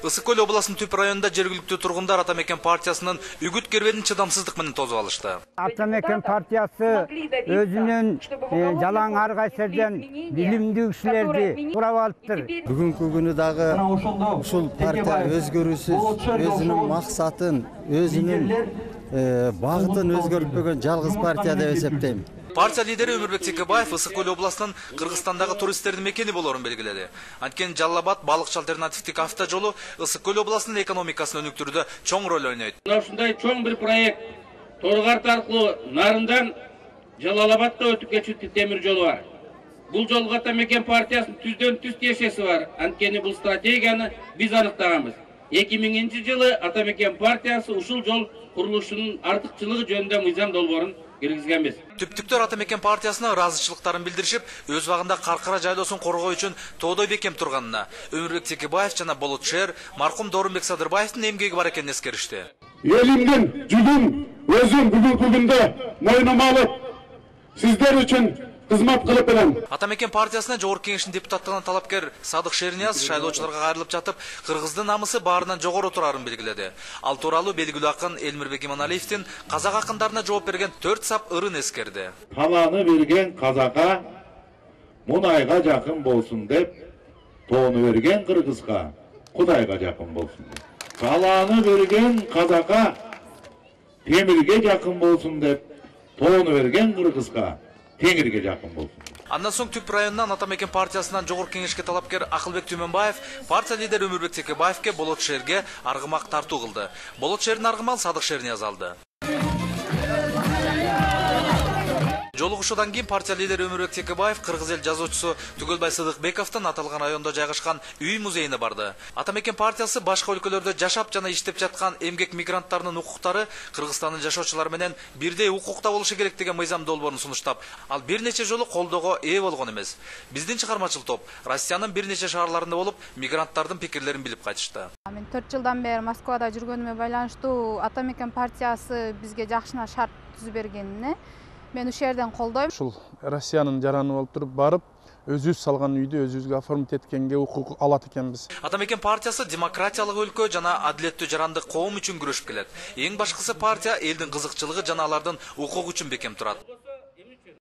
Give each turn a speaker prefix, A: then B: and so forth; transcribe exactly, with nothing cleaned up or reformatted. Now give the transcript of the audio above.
A: Ысык Көл областынын Түп районунда жергиликтүү тургундар Ата Мекен партиясынын үгүт кербедин чыдамсыздык менен тосуп алышты.
B: Ата Мекен партиясы өзүнүн жалаң ар кайсыдан билимдүү кишилерди курап алыптыр.
C: Бүгүнкү күнү дагы ушул партия өзгөрүүсүз өзүнүн максатын, өзүнүн багытын өзгөртпөгөн жалгыз партия деп эсептейм.
A: Партия лидери Өмүрбек Текебаев Ысык Көл областынын Кыргызстандагы туристтердин мекени болорун белгиледи. Анткени Жалал-Абад балыкчы альтернативдик автожолу Ысык Көл областынын экономикасын өнүктүрүүдө чоң роль ойнойт.
D: Ушундай чоң бир проект Торгарт аркылуу Нарындан Жалал-Абадка өтүп кетчү темир жолу бар. Бул жолго Ата Мекен партиясынын түздөн түз тиешеси бар. Анткени бул стратегияны биз аныктаганбыз. эки миңинчи жылы Ата Мекен партиясы ушул жол курулушунун артыкчылыгы жөнүндө мыйзам долбоорун киргизгенбиз.
A: Түптүктөр Ата Мекен партиясына ыраазычылыктарын билдиришип, өз убагында Каркара жайлоосун коргоо үчүн тоодой бекем турганына Өмүрбек Текебаев жана Болот Шер маркум Доорунбек Садырбаевдин эмгеги бар экенин эскеришти.
E: Элимдин жүгүн өзүм бүгүнкү күндө мойнума алып, сиздер үчүн кызмат кылып берем.
A: Ата Мекен партиясына жогорку кеңештин депутаттыгына талапкер Садык Шернияз шайлоочуларга кайрылып жатып, кыргыздын намысы баарынан жогору турарын белгиледи. Ал тууралуу белгилүү акын Элмирбек Иманалиевдин казак акындарына жооп берген төрт сап ырын эскерди.
F: Талааны берген казакка мунайга жакын болсун деп, тоону берген кыргызга Кудайга жакын болсун деп. Талааны берген казакка темирге жакын болсун деп, тоону берген кыргызга Теңирге жакын болсун.
A: Андан соң Түп районунан Ата Мекен партиясынан жогорку кеңешке талапкер Акылбек Түмөнбаев партия лидери Өмүрбек Текебаевке Болот Шерге аргымак тартуу кылды. Болот Шердин аргымал Садык Шернияз алды. Жолугушуудан кийин партия лидери Өмүрбек Текебаев кыргыз эл жазуучусу Түгөлбай Сыдыкбековдун аталган райондо жайгашкан үй музейине барды. Ата Мекен партиясы башка өлкөлөрдө жашап жана иштеп жаткан эмгек мигранттарынын укуктары Кыргызстандын жашоочулары менен бирдей укукта болушу керек деген мыйзам долбоорун сунуштап, ал бир нече жолу колдоого ээ болгон эмес. Биздин чыгармачыл топ Россиянын бир нече шаарларында болуп, мигранттардын пикирлерин билип кайтышты.
G: Мен төрт жылдан бери Москвада жүргөнүмө байланыштуу Ата Мекен партиясы бизге жакшына шарт түзүп бергенине мен ушул жерден колдойм.
H: Ушул Россиянын жараны болуп туруп барып, өзүбүз салган үйдү өзүбүзгө оформить эткенге укук алат экенбиз.
A: Ата Мекен партиясы демократиялык өлкө жана адилеттүү жарандык коом үчүн күрөшүп келет. Эң башкысы партия элдин кызыкчылыгы жана алардын укугу үчүн бекем турат.